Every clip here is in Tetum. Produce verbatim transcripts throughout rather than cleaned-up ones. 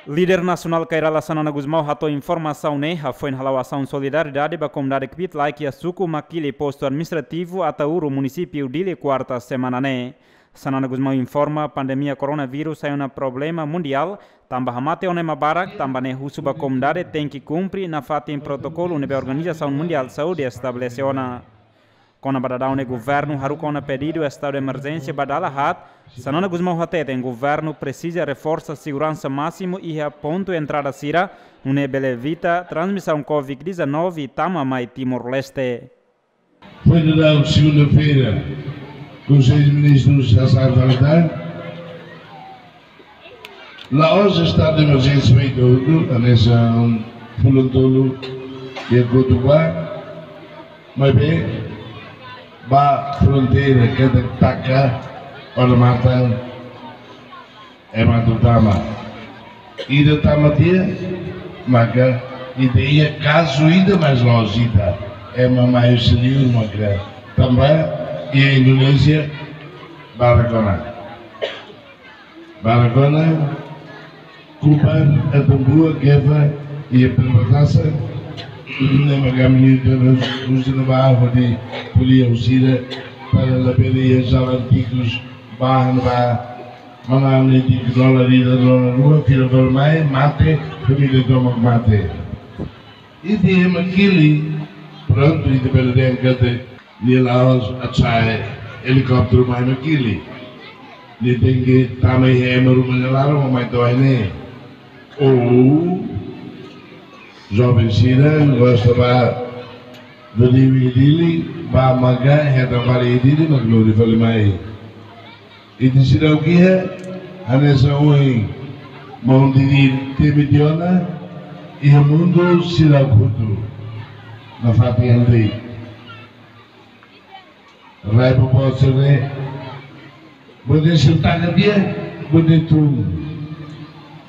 Líder nasionál Kay Rala Xanana Gusmão hato'o informasaun ne'e hafoin hala'o asaun solidariedade ba komunidade kbiit-laek iha suku Makili, postu administrativu Ataúro, munisípiu Dili, kuarta semana ne'e. Xanana Gusmão informa, pandemia koronavírus sai ona problema mundiál, tanba hamate ona ema barak, tanba ne'e husu ba komunidade tenke kumpre nafatin protokolu ne'ebé Organizasaun Mundiál Saúde estabelese ona. Kona-ba daudaun ne'e, governu haruka ona pedidu estadu de emerjénsia ba dala haat. Xanana Gusmão hateten governu presiza reforsa seguransa másimu iha pontu entrada sira, nune'e bele evita transmisaun covid dezanove tama mai Timor-Leste. Foi dada segunda-feira, Conselho de Ministros a Santa Natal. La'ós estadu de emerjénsia feito hotu, hanesan fulan tolu iha Cotopaxi, maibé ba fronteira ketak taka, odamatan ema atu tama. Ida tama tiha, maka ida iha kazu ida, mas la'ós ida. Ema mai husi liur maka tama iha Indonézia, barak ona. Barak ona, Kupang, Atambua, Geva, iha perbatasan, ne'e maka ami-nia terus usaha ba hodi ko'alia ho sira para labele iha jalan tikus, bahan ba mana ami di dolar ida, dolar rua, fila dolar mai, mate, família tomak mate. Ita iha Makili, prontu, ita bele dehan katak nia la'ós atu sa'e helikópteru mai Makili. Nia tenke tama iha ema ruma nia laran, mai to'o iha ne'e. Ou joven sira gosta ba dodui iha Dili, ba maka hetan fali iha Dili, mak lori fali mai. Ita seidauk iha, hanesan ohin maun Didi temi tiha ona, iha mundu seidauk hotu nafatin ida-ne'e. Rai ba bosere, bode sentaka dia, bode tun.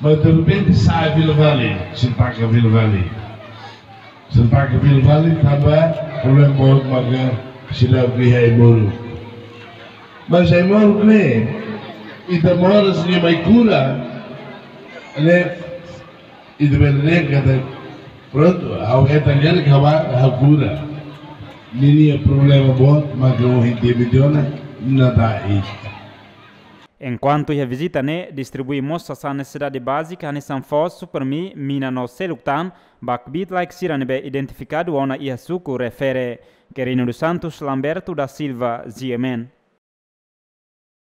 Mas derrepente sai fila fali, sentaka fila fali. Sentaka fila fali, tanba problema boot maka seidauk iha ai-moruk. Mas ai-moruk ne'e, ita moras nia mai kura, ne'e, ita bele dehan katak, prontu, ha'u hetan katak ha'u ba, ha'u kura. Ninia problema boot maka ohin temi tiha ona, nada ita. Enkuantu iha vizita ne'e, distribui mós sasán nesesidade bázika hanesan foos, Supermi, mina no seluk tan, ba kbiit-laek sira ne'ebé identifikadu ona iha suku refere. Querino dos Santos, Lamberto da Silva, G M N.